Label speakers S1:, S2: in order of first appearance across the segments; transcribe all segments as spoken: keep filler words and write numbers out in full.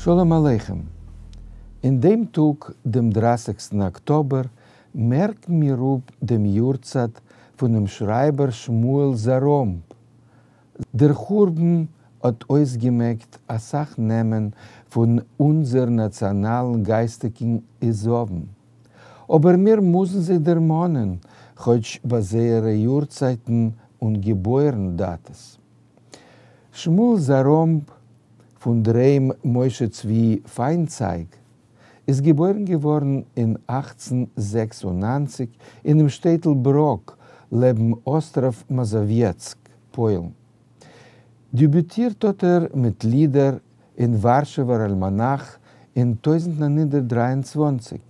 S1: שלום עליכם. אין דעם טאג, דעם דרײַסיקסטן אקטאבער, מערקן מיר אפ דעם יארצייט פונעם שרייבער שמואל זאראמב. דער חורבן האט אויסגעמעקט א סך נעמען פון אונדזער נאציאנאלן גייסטיקן עזבון. אבער מיר מוזן זיי דערמאנען, כאטש ביי זייערע יארצייטן און געבוירן-דאטעס. שמואל זאראמב, פון דער היים משה צבי פיינצייג, איז געבוירן געווארן אין אַכצן זעקס און נײַנציק אינעם שטעטל בראק לעבן אסטראוו מאזאוויעצק, פוילן. דעביוטירט האט ער מיט לידער אין ווארשעווער אלמאנאך אין טויזנט נײַן הונדערט דרײַ און צוואַנציק.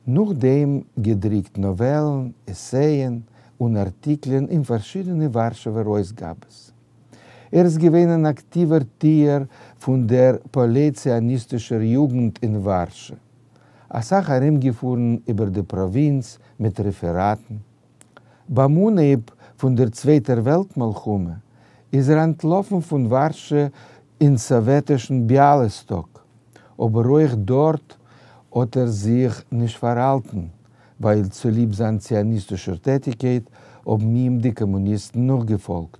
S1: נאכדעם געדרוקט נאוועלן, עסייען און ארטיקלען אין פארשידענע ווארשעווער אויסגאבעס. ער איז געווען אן אקטיווער טוער פון דער פועלי-ציוניסטישער יוגנט אין ווארשע. א סך ארומגעפארן איבער די פראווינץ מיט רעפעראטן. ביים אנהייב פון דער צווייטער וועלט מלחמה איז ער אנטלאפן פון ווארשע אין סאוועטישן ביאליסטאק, אבער אויך דארט האט ער זיך נישט פארהאלטן, ווייל צוליב זיין ציוניסטישער טעטיקייט האבן אים די קאמוניסטן נאכגעפאלגט.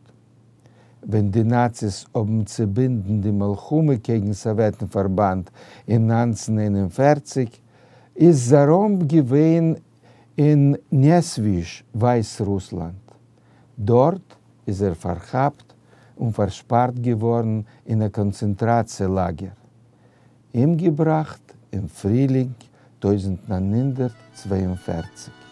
S1: ווען די נאציס האבן צעבונדן די מלחמה קעגן סאוועטן-פארבאנד אין נײַנצן איין און פֿערציק, איז זאראמב געווען אין נעסוויזש, ווייסרוסלאנד. דארט איז ער פארכאפט און פארשפארט געווארן אין א קאנצענטראציע לאגער. אומגעבראכט אין פרילינג טויזנט נײַן הונדערט צוויי און פֿערציק.